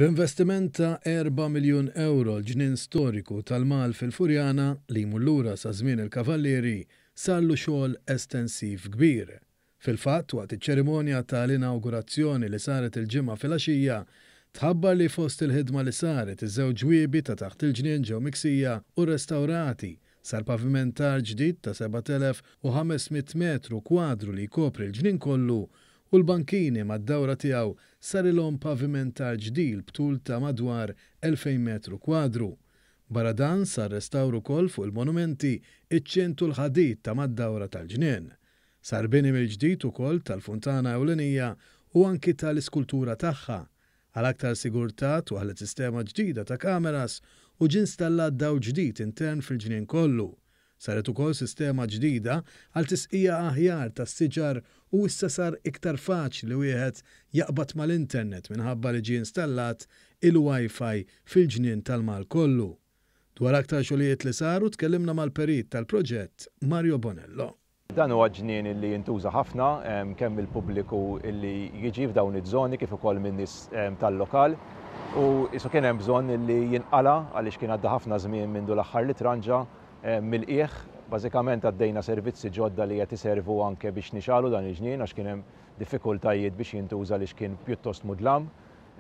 B'investiment ta' erba' miljun ewro l-ġnien storiku tal-Mal fil-Furjana, li jmur lura sa żmien il-Kavallieri, sarlu xogħol estensiv kbir. Fil-fatt, waqt iċ-ċerimonja tal-inawgurazzjoni li saret il-Ġimgħa filgħaxija, tħabbar li fost il-ħidma li saret, iż-żewġ ġwiebi ta' taħt il-ġnien ġew miksija u rrestawrati, sar pavimentar ġdid ta' 7,500 metru kwadru li jkopri l-ġnien kollu u l-bankini mad-dawra tiegħu sarilhom pavimentar ġdil b'tul ta' madwar 2,000 metru kwadru. Barra dan sar restawr ukoll fuq il-monumenti, iċ-ċint u l-ħadid ta' mad-dawra tal-ġnien. Sar bini mill-ġdid ukoll tal-funtana ewlenija u anki tal-iskultura tagħha. Għal aktar sigurtà twaħħlet sistema ġdida ta' kameras u ġie installat dawl ġdid intern fil-ġnien kollu. Saret ukoll sistema ġdida għal tisqija aħjar tas-siġar u issa sar iktar faċli li wieħed jaqbad mal-internet minħabba li ġie installat il-Wi-Fi fil-ġnien tal-Mall kollu. Dwar aktar xogħlijiet li saru tkellimna mal-perit tal-proġett Mario Bonello. Dan huwa ġnien li jintuża ħafna kemm mill-pubbliku li jiġi f'dawn iż-żoni kif ukoll min-nies tal-lokal u qisu kien hemm bżonn li jinqala' għaliex kien għadda ħafna żmien mindu l-aħħar li tranġa mill-qiegħ. Bażikament għaddejna servizzi ġodda li qed iservu anke biex nixgħalu dan il-ġnien għax kien hemm diffikultajiet biex jintuża għaliex kien pjuttost mudlam.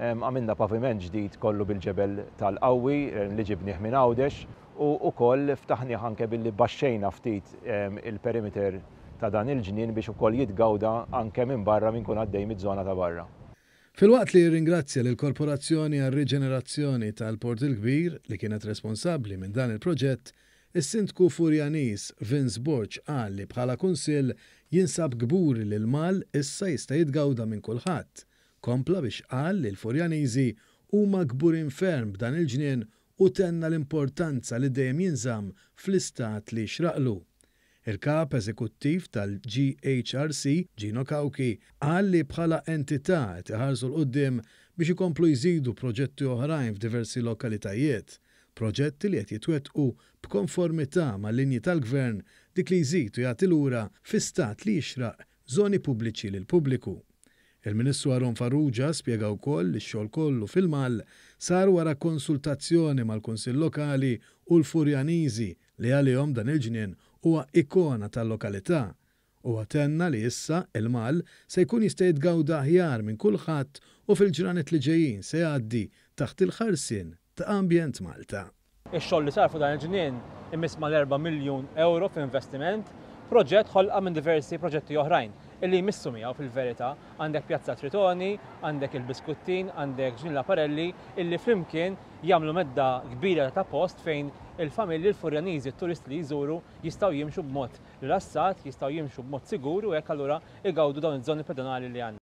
Għamilna paviment ġdid kollu bil-ġebel tal-qawwi li ġibnieh minn Għawdex u wkoll ftaħnieh anke billi baxxejna ftit il-perimeter ta' dan il-ġnien biex ukoll jitgawda anke minn barra min ikun għaddej miż-żona ta' barra. Filwaqt li rringrazzja lill-Korporazzjoni għar-Riġenerazzjoni tal-Port il-Kbir li kienet responsabbli minn dan il-proġett, is-Sindku Furjaniż Vince Borg qal li bħala Kunsill jinsab kburi li l-Mall issa jista' jitgawda minn kulħadd. Kompla biex qal li l-Furjaniżi huma kburin ferm b'dan il-ġnien u tenna l-importanza li dejjem jinżamm fl-istat li jixraqlu. Il-Kap Eżekuttiv tal-GHRC, Gino Cauchi, qal li bħala entità qed iħarsu 'l quddiem biex ikomplu jżidu proġetti oħrajn f'diversi lokalitajiet, proġetti li qed jitwettqu b'konformità mal-linji tal-Gvern dik li jżid u jagħti lura fi stat li jixraq żoni pubbliċi lill-pubbliku. Il-Ministru Aaron Farrugia spjega wkoll li x-xogħol kollu fil-Mall sar wara konsultazzjoni mal-Kunsill Lokali u l-Furjaniżi li għalihom dan il-ġnien huwa ikona tal-lokalità. Huwa tenna li issa il-Mall se jkun jista' jitgawda aħjar minn kulħadd u fil-ġranet li ġejjin se jgħaddi taħt il-ħarsien ta' Ambjent Malta. Ix-xogħol li sar fuq dan il-ġnien imiss mal-erba' miljun ewro f'investiment, proġett ħolqa minn diversi proġetti oħrajn illi jmissu miegħu fil-verità. Għandek Pjazza Tritoni, għandek il-Biskuttin, għandek Ġnien Laparelli illi flimkien jagħmlu medda kbira ta' post fejn il-familji, l-Furjaniżi, t-turisti li jżuru jistgħu jimxu b'mod rilassat, jistgħu jimxu b'mod sigur u hekk allura igawdu dawn iż-żoni pedonali li għandna.